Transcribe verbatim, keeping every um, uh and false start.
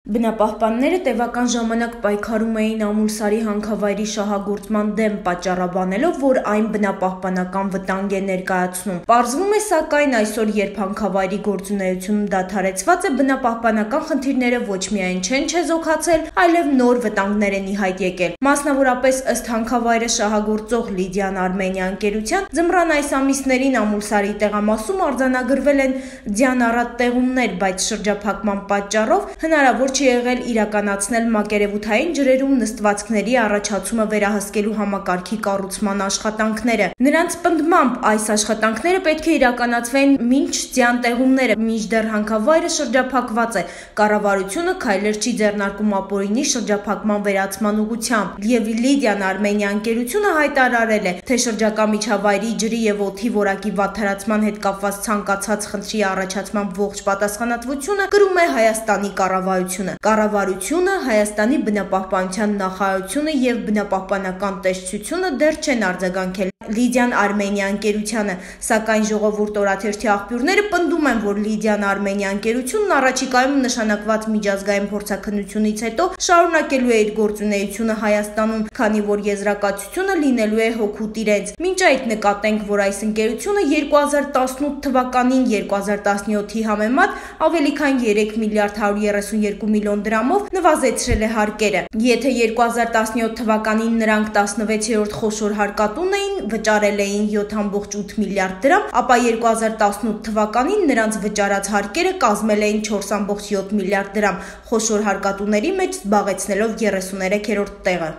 Բնապահպանները տևական ժամանակ պայքարում էին Ամուլսարի հանքավայրի շահագործման դեմ, պատճառաբանելով, որ այն բնապահպանական վտանգ է ներկայացնում։ Պարզվում է, սակայն, այսօր, երբ հանքավայրի գործունեությունը դադարեցված է, բնապահպանական խնդիրները ոչ միայն չեն չեզոքացել, այլև նոր վտանգներ են ի հայտ եկել։ Մասնավորապես, ըստ հանքավայրը շահագործող Լիդիան Արմենիա ընկերության, ձմռան այս ամիսներին Ամուլսարի տեղամասում արձանագրվել են ձյան առատ տեղումներ, բայց շրջափակման պատճառով հնարավոր չի եղել իրականացնել մակերևութային ջրերում նստվածքների առաջացումը վերահսկելու համակարգի կառուցման աշխատանքները։ Նրանց պնդմամբ, այս աշխատանքները պետք է իրականացվեն մինչ ձյան տեղումները, մինչդեռ հանքավայրը շրջափակված է, կառավարությունը քայլեր չի ձեռնարկում ապօրինի շրջափակման վերացման ուղղությամբ։ Եվ Լիդիան Արմենիա ընկերությունը հայտարարել է, թե շրջակա միջավայրի ջրի եւ օդի որակի վատթարացման հետ կապված ցանկացած խնդրի առաջացման ողջ պատասխանատվությունը կրում է Հայաստանի կառավարությունը։ Կառավարությունը, Հայաստանի բնապահպանության նախարարությունը եւ բնապահպանական տեսչությունը դեռ չեն արձագանքել Լիդիան Արմենիա ընկերությանը, սակայն Ժողովուրդ օրաթերթի աղբյուրները պնդում են, որ Լիդիան Արմենիա ընկերությունն առաջիկայում նշանակված միջազգային փորձաքննությունից հետո շարունակելու է իր գործունեությունը Հայաստանում, քանի որ եզրակացությունը լինելու է հօգուտ իրենց։ Մինչ այդ նկատենք, որ այս ընկերությունը երկու հազար տասնութ թվականին երկու հազար տասնյոթի համեմատ ավելի քան երեք միլիարդ հարյուր երեսունյոթ միլիոն դրամով նվազեցրել է հարկերը։ Եթե երկու հազար տասնյոթ թվականին նրանք տասնվեցերորդ խոշոր հարկատուն էին, վճարել էին յոթ կόμma ութ միլիարդ դրամ, ապա երկու հազար տասնութ թվականին նրանց վճարած հարկերը կազմել էին չորս կόμma յոթ միլիարդ դրամ, խոշոր հարկատուների մեջ զբաղեցնելով երեսուներեքերորդ տեղը։